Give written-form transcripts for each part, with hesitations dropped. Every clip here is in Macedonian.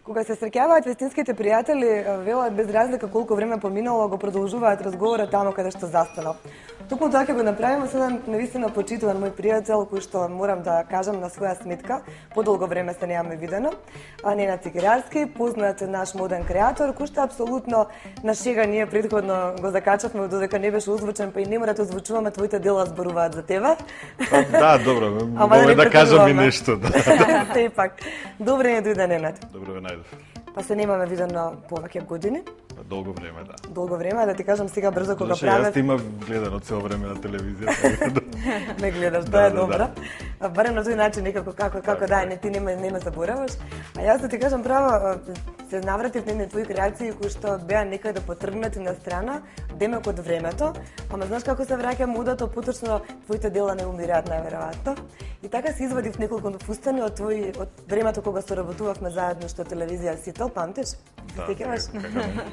Кога се среќаваат вистинските пријатели, велат без разлика колку време поминало, го продолжуваат разговорот таму каде што застанал. Токму тоа ќе го направиме со еден навистина почитуван мој пријател, кој што морам да кажам на своја сметка, подолго време се немаме видено, Ненад Цигерарски, познат наш моден креатор, кој што апсолутно на шега ние предходно го закачавме додека не беше озвучен, па и не мора да озвучуваме, твоите дела зборуваат за тебе. Да, добро, може да кажам и нешто. Сепак. Добре не дојде Ненад. Добро ве најдов. Па се немаме видено повеќе години. Долго време, да. Долго време, да ти кажам сега брзо кога правев. Јас имам гледано цело време на телевизија. Ме гледаш, тоа е добро. Барем на тој начин некако како да, не ти не ме забораваш. А јас да ти кажам право, се навратив на твои креации кои што беа некаде потргнати на страна, демек од времето, ама знаеш како се враќа модата, поточно твоите дела не умираат најверојатно. И така се извадив неколку фустани од времето кога соработувавме заедно што телевизија Сител, памтиш? Да,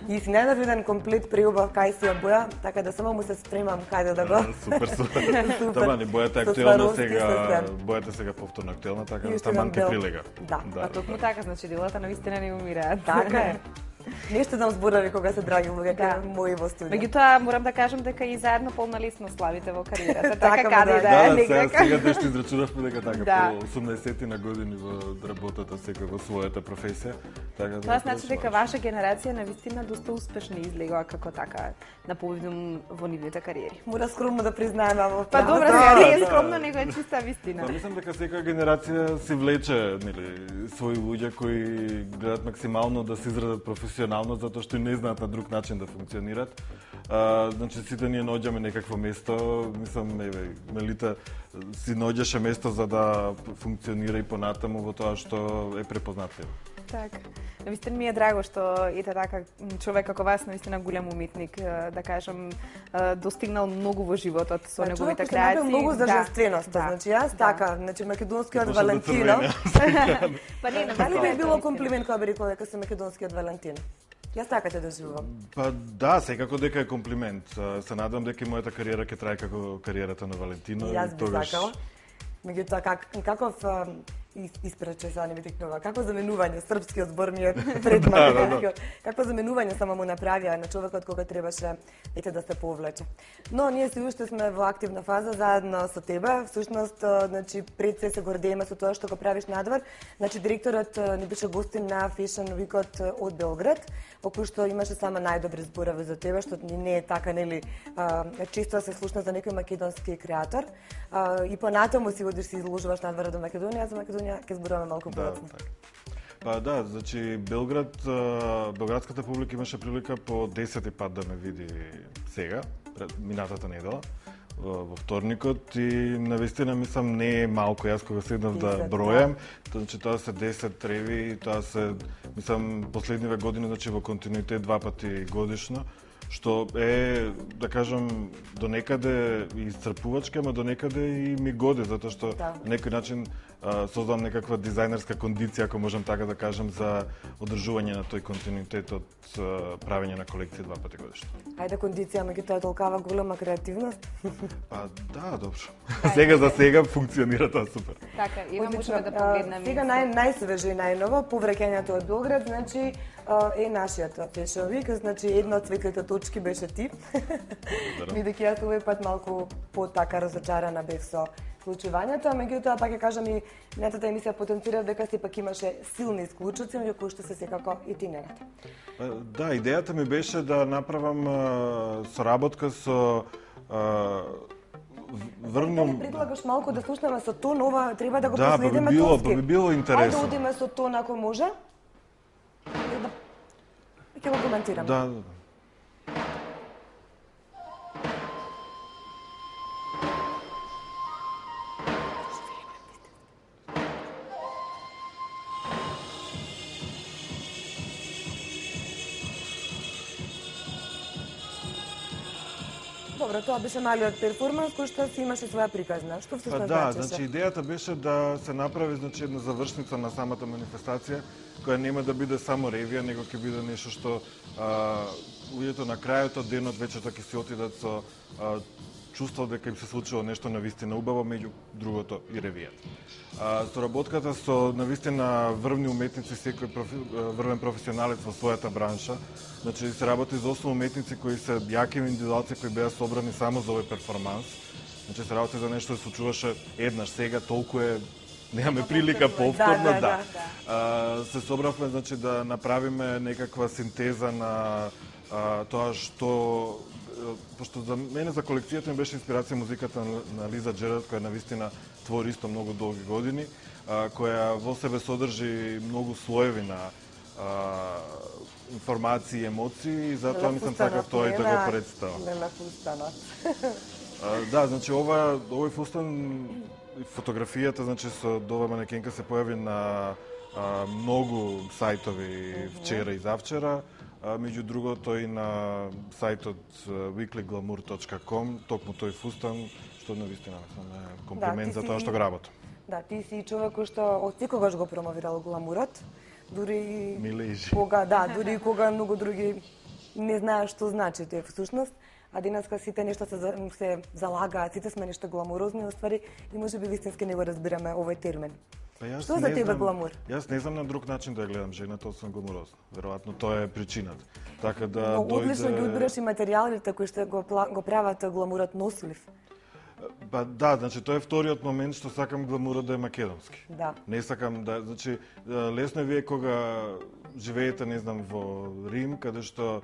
и си најдов еден комплет преубав кај си боја, така да само му се спремам каде да го. Супер. Таман, бојата е актуелна сега, бојата сега повторно актуелна, така да таман ке прилега. Да. А токму така, значи делата навистина не умираат. Така е. Нешто дам зборави кога се драги луѓе кај мои во студио. Меѓутоа морам да кажам дека и заедно полналисно славите во кариерата. Така каде да е некако. Сега нешто израчунавме дека така по 80 на години во работата секој во својата професија. Така тоа значи дека ваша генерација навистина доста успешно излегува како така на повидум во нивните кариери. Мора скромно да признаеме во Па добро, не е скромно, него е чиста вистина. Па мислам дека секоја генерација си влече, нели, свои луѓе кои гледат максимално да се израдат професионално затоа што не знаат на друг начин да функционираат. Значи сите ние наоѓаме некакво место, мислам Мелита си наоѓаше место за да функционира и понатаму во тоа што е препознатливо. Така. Навистина ми е драго што ете така човек како вас, навистина голем уметник, да кажам, достигнал многу во животот со неговите креации. Човек многу за женственост, значи јас така, значи македонскиот Валентино. Па не, дали би било комплимент кога би рекла дека се македонскиот Валентин? Јас така те доживувам. Па да, секако дека е комплимент. Се надам дека и мојата кариера ќе трае како кариерата на Валентино. Јас би сакала. Меѓутоа каков испрече са не ми текнува. Какво заменување српскиот збор ми е пред македонскиот. Какво заменување само му направија на човекот кога требаше да се повлече. Но ние си уште сме во активна фаза заедно со тебе. Всушност, значи пред се гордееме со тоа што го правиш надвор. Значи директорот ни беше гостин на Fashion Week-от од Белград, во кој што имаше само најдобри зборови за тебе, што не е така, нели, често се слушна за некој македонски креатор. И понатаму си одиш си изложуваш надвор до Македонија, за Македонија ќе зборуваме малку подробно. Па да, значи белградската публика имаше прилика по 10 пат да ме види сега, минатата недела, во вторникот, и навистина мислам не е малку, јас кога седнав да бројам, значи тоа се 10 треви, тоа се, мислам, последниве години, значи во континуитет 2 пати годишно, што е, да кажам, до некаде исцрпувачки, ама до некаде и ми годи, затоа што на некој начин создавам некаква дизајнерска кондиција, ако можам така да кажам, за одржување на тој континуитет од правење на колекција 2 пати годишно. Ајде кондиција, меѓутоа толкава голема креативност? Па да, добро. Сега за сега функционира тоа супер. Така, има можеме да погледнеме. Сега најсвежи и најново, повраќањето од Белград, значи е нашиот Fashion Week, значи една од светлите точки беше ти. Бидејќи јас овој пат малку потака разочарана бев со случувањето, меѓутоа пак ќе кажам и минатата емисија потенцира дека сепак имаше силни исклучоци, меѓу кои што се секако и ти Ненад. Да, идејата ми беше да направам соработка со врнем. Да предлагаш малку да слушнеме со тон, ова треба да го последиме тонски. Да, би било интересно. Ајде да одиме со тон ако може. Ќе го коментираме. Да. Добро, тоа беше малиот перформанс кој што си имаше своја приказна. Што всушност значеше? Да, значи идејата беше да се направи една завршница на самата манифестација, која нема да биде само ревија, него ќе биде нешто што луѓето на крајот од денот вечерта ќе се отидат со чувство дека им се случило нешто навистина убаво, меѓу другото и ревијата. Соработката со навистина врвни уметници, секој врвен професионалец во својата бранша. Значи се работи за 8 уметници кои се јаки индивидуалци кои беа собрани само за овој перформанс. Значи се работи за нешто да се случуваше еднаш, сега толку е немаме прилика повторно, да. Се собравме, значи, да направиме некаква синтеза на тоа што пошто за мене, за колекцијата ми беше инспирација музиката на Лиза Джерард, која навистина твори исто многу долги години, која во себе содржи многу слоеви на информации и емоции, и затоа мислам сакав тоа и да го представам. Да, значи овој фустан, фотографијата, значи со ова манекенка се појави на многу сајтови вчера и завчера, меѓу другото и на сајтот weekly-glamour.com, токму тој фустан, што навистина е комплимент за тоа што го работам. Да, ти си човек кој што од секогаш го промовирал гламурот, дури дури кога многу други не знаат што значи тоа всушност, а денеска сите нешто се залагаат, сите сме нешто гламурозни, оствари и можеби вистински не го разбираме овој термин. Што за тебе гламур? Јас не знам на друг начин да ја гледам жената, освен гламурозна. Веројатно тоа е причината. Така да но одлично ги одбираш и материјалите кои што го прават гламурот нослив. Па да, значи тоа е вториот момент што сакам гламурот да е македонски. Да. Не сакам да, значи лесно е вие кога живеете, не знам, во Рим, каде што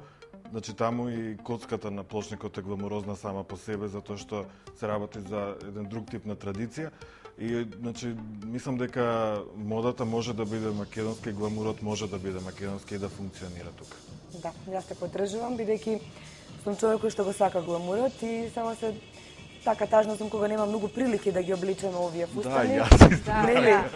значи таму и коцката на плочникот е гламурозна сама по себе затоа што се работи за еден друг тип на традиција. И значи мислам дека модата може да биде македонска и гламурот може да биде македонски и да функционира тука. Да, јас те поддржувам бидејќи сум човек кој што го сака гламурот и само се така тажно сум кога нема многу прилики да ги обличам овие фустани.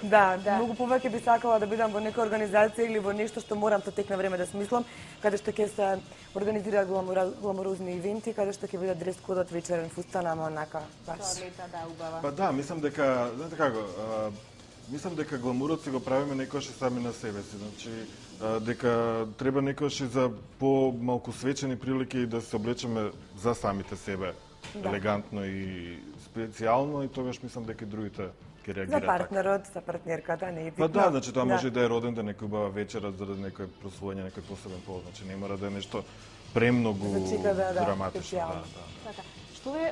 Да, многу повеќе би сакала да бидам во нека организација или во нешто што морам со тек на време да смислам, каде што ќе се организираат гламурозни ивенти, каде што ќе биде дрес кодот вечерен фустан, ама онака баш. Да, убава. Па да, мислам дека, знаете како, мислам дека гламурот си го правиме некојаш и сами на себе си, значи дека треба некојаш и за помалку свечени прилики да се облечеме за самите себе. Да. Елегантно и специјално, и тогаш мислам дека и другите ќе реагираат. За партнерот, за партнерката, не е битно. Па да, значи тоа може да е роден ден, некој убава вечера заради некој прослување, некој посебен повод, значи не мора да е нешто премногу драматично. Така.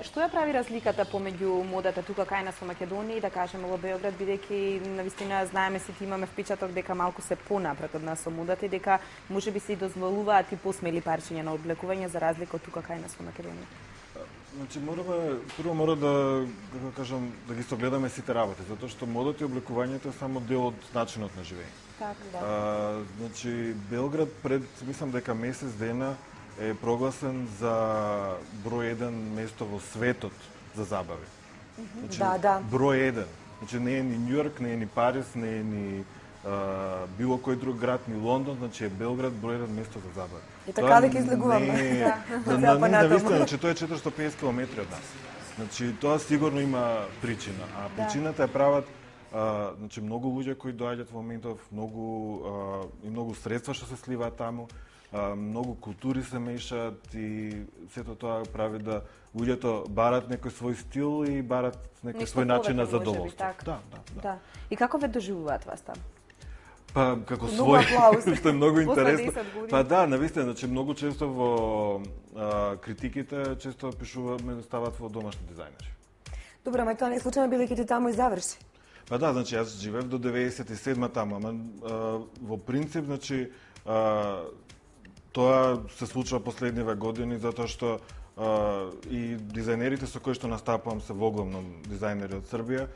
Што ја прави разликата помеѓу модата тука кај нас во Македонија и да кажеме во Београд, бидејќи навистина знаеме сите имаме впечаток дека малку се понапред од нас со модата и дека можеби се и дозволуваат и посмели парчиња на облекување за разлика од тука кај нас во Македонија. Значи прво мора да кажам да ги согледаме сите работи, затоа што модата и облекувањето е само дел од начинот на живење. Така, да. Значи Белград пред мислам дека месец дена е прогласен за број 1 место во светот за забави. Значи, да. Број 1. Значи не е ни Њујорк, не е ни Париз, не е ни било кој друг град, ни Лондон, значи е Белград број 1 место за забави. И така дека излегуваме. Значи тоа е 450 километри од нас. Значи тоа сигурно има причина, а причината е прават значи многу луѓе кои доаѓаат во моментов, многу средства што се сливаат таму, многу култури се мешаат и сето тоа прави да луѓето барат некој свој стил и барат некој свој начин на задоволство. Да. И како ве доживуваат вас таму? Па како свој, што е многу интересно. Па да, навистина, значи многу често во критиките често пишуваме да стават во домашни дизајнери. Добро, ама тоа не е случајно бидејќи ти таму и заврши. Па да, значи јас живеев до 97 таму, ама во принцип, значи тоа се случува последниве години затоа што и дизајнерите со кои што настапувам се воглавном дизајнери од Србија,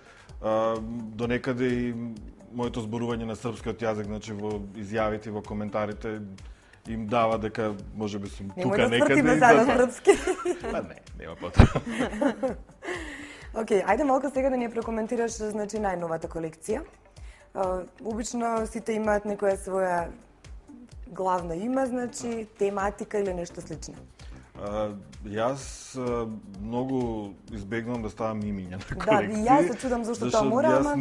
до некаде и моето зборување на српскиот јазик, значи во изјавите, во коментарите им дава дека можеби сум тука некаде. Немој да тврдиме за српски. Па не, нема потреба. Океј, ајде малку сега да ни прокоментираш значи најновата колекција. Обично сите имаат некоја своја главна име, значи тематика или нешто слично. Јас многу избегнувам да ставам имиња на Да, колекции. и јас се чудам зашто тоа мора, ама...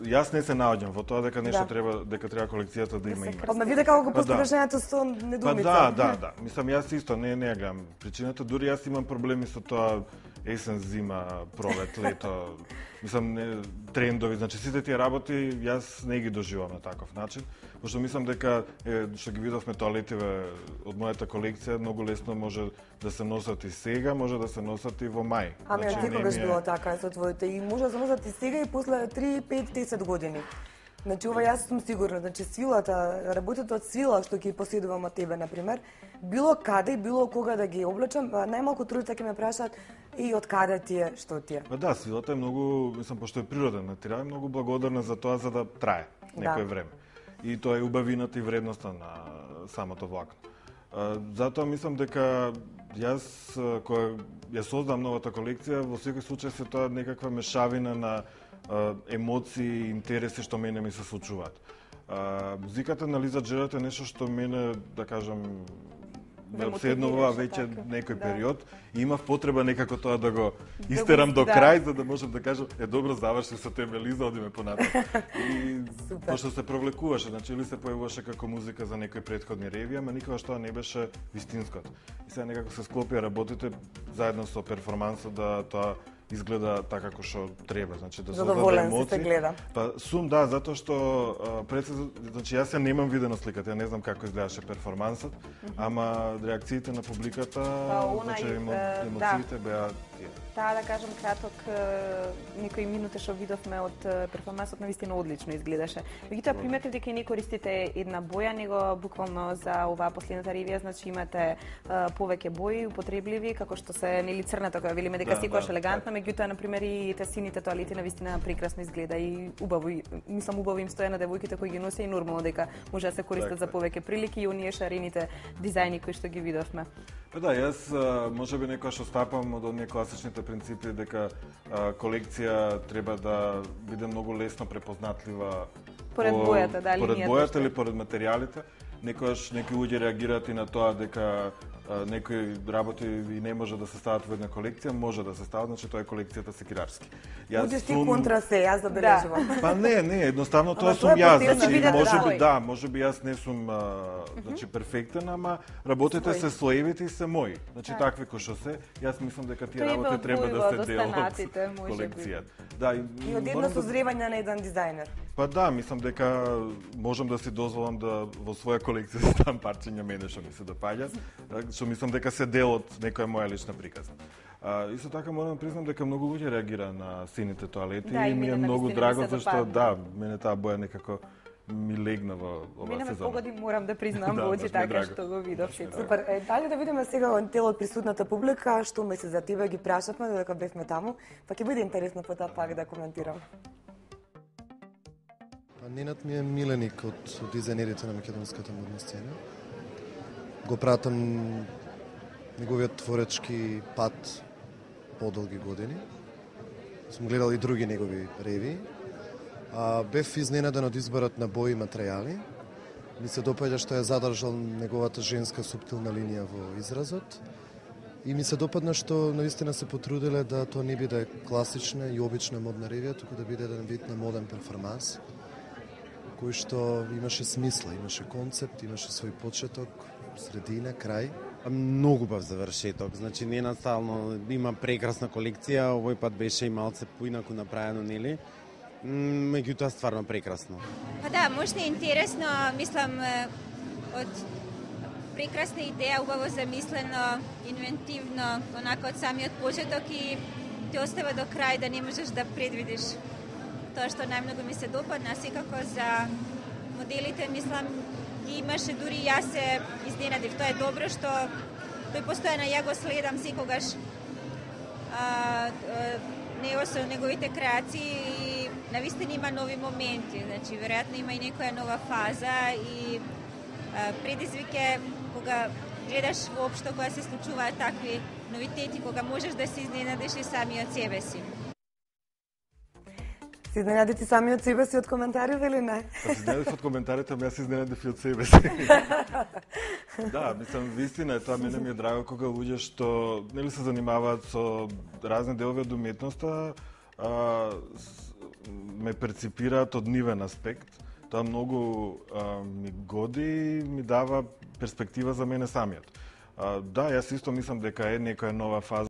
Јас не се наоѓам во тоа дека нешто треба, дека треба колекцијата да има име. Па ме виде како го постигнешањето со недумица. Па да. Мислам, јас исто не гледам причината, дури јас имам проблеми со тоа есен, зима, пролет, лето. Мислам, трендови, значи сите тие работи јас не ги доживам на таков начин, пошто мислам дека што ги видовме тоалетиве од мојата колекција многу лесно може да се носат и сега, може да се носат и во мај. Ами значи, секогаш било така со твоите и може да се носат и сега и после 3, 5, 10 години. Значи, ова јас сум сигурна, значи силата, работите од сила што ќе поседувам од тебе, например, било каде, било кога да ги облечам, најмалку тројца ќе ме прашаат и од каде ти е, што ти е. Па да, силата е многу, мислам, пошто е природен материјал, многу благодарна за тоа за да трае некое време. И тоа е убавината и вредноста на самото влакно. Затоа мислам дека јас кога ја создам новата колекција, во секој случај се тоа некаква мешавина на емоции и интереси што мене ми се случуваат. Музиката на Лиза Джерард е нешто што мене, да кажам, ме обседнува веќе некој период и имав потреба некако тоа да го истерам до крај, за да можам да кажам, добро, заврши со тебе Лиза, одиме понатаму. И пошто се провлекуваше, значи или се појавуваше како музика за некои претходни реви, ама никогаш тоа не беше вистинското. И сега некако се склопија работите заедно со перформансот да тоа изгледа така како што треба, значи да создаде емоции. Гледа. Па сум да, затоа што значи јас ја немам видено сликата, ја не знам како изгледаше перформансот, ама реакциите на публиката, значи емоциите беа Таа да кажам краток некои минути што видовме од перформансот навистина одлично изгледаше. Меѓутоа приметив дека не користите една боја, него буквално за оваа последната ревија, значи имате повеќе бои употребливи, како што се нели црната која велиме дека секогаш елегантна, меѓутоа на пример и сините тоалети навистина прекрасно изгледа и убаво, мислам убаво им стоја на девојките кои ги носе и нормално дека може да се користат за повеќе прилики и оние шарените дизајни кои што ги видовме. Па да, јас можеби некојаш остапам од оние класичните принципи дека колекција треба да биде многу лесно препознатлива поред бојата, да, поред бојата или поред материјалите. Некојаш некои луѓе реагираат и на тоа дека некои работи и не може да се стават во една колекција, може да се стават, значи тоа е колекцијата секирарски. Будеш ти контра се, јас забележувам. Па не, едноставно тоа сум јас, значи можеби јас не сум значи перфектен, ама работите се слоевите и се мои. Значи такви кои што се, јас мислам дека тие работи треба да се дел од колекцијата. Да, и од едно созревање на еден дизајнер. Па да, мислам дека можам да си дозволам да во своја колекција ставам парчиња мене што ми се допаѓа, што мислам дека се дел од некоја моја лична приказна. Исто така морам да признам дека многу луѓе реагира на сините тоалети и ми е многу драго зашто мене таа боја некако ми легна во оваа сезона. Мене ме погоди, морам да признам во очи така што го видов. Супер. Дали да видиме сега од дел од присутната публика, што мисли за тебе, ги прашавме додека бевме таму, па ќе биде интересно потоа пак да коментирам. Ненад ми е миленик од дизајнерите на македонската модна сцена. Го пратам неговиот творечки пат подолги години. Сум гледал и други негови реви. Бев изненаден од изборот на бои и материјали. Ми се допаѓа што ја задржал неговата женска суптилна линија во изразот. И ми се допадна што навистина се потрудиле да тоа не биде класична и обична модна ревија, туку да биде еден вид на моден перформанс, кој што имаше смисла, имаше концепт, имаше свој почеток, средина, крај. Многу бав завршеток, значи ненастално има прекрасна колекција, овој пат беше и малце поинаку направено, нели? Меѓутоа стварно прекрасно. Па да, можда е интересно, мислам, од прекрасна идеја, убаво замислено, инвентивно, онака од самиот почеток и те остава до крај да не можеш да предвидиш тоа што најмногу ми се допадна, секако за моделите, мислам, ги имаше, дури јас се изненадив. Тоа е добро што тој постојано ја го следам секогаш него со неговите креации и навистина има нови моменти, значи веројатно има и некоја нова фаза и предизвике кога гледаш воопшто кога се случуваат такви новитети, кога можеш да се изненадиш и самиот себе си. Се изненадите сами од себе си од коментариве или не? Па се изненадив од коментарите, ама јас се изненадив и од себе си. Да, мислам, вистина е тоа, мене ми е драго кога луѓе што нели се занимаваат со разни делови од уметноста, ме перципираат од нивен аспект. Тоа многу ми годи и ми дава перспектива за мене самиот. Да, јас исто мислам дека е некоја нова фаза